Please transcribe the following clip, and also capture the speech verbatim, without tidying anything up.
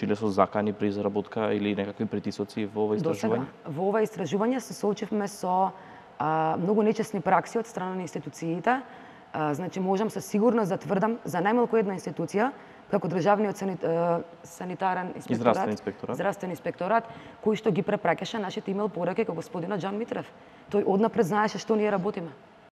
соочиле со закани при изработка или некакви притисоци во ова истражување? Досега, во ова истражување се соочивме со а, многу нечесни пракси од страна на институциите. А, значи, можам со сигурност да тврдам за најмалку една институција, како државниот санит, санитарен инспекторат, здравствен инспекторат, здравствен инспекторат, кој што ги препраќаше нашите имейл пораки како господинот Џан Митрев. Тој однапред знаеше што ние работиме.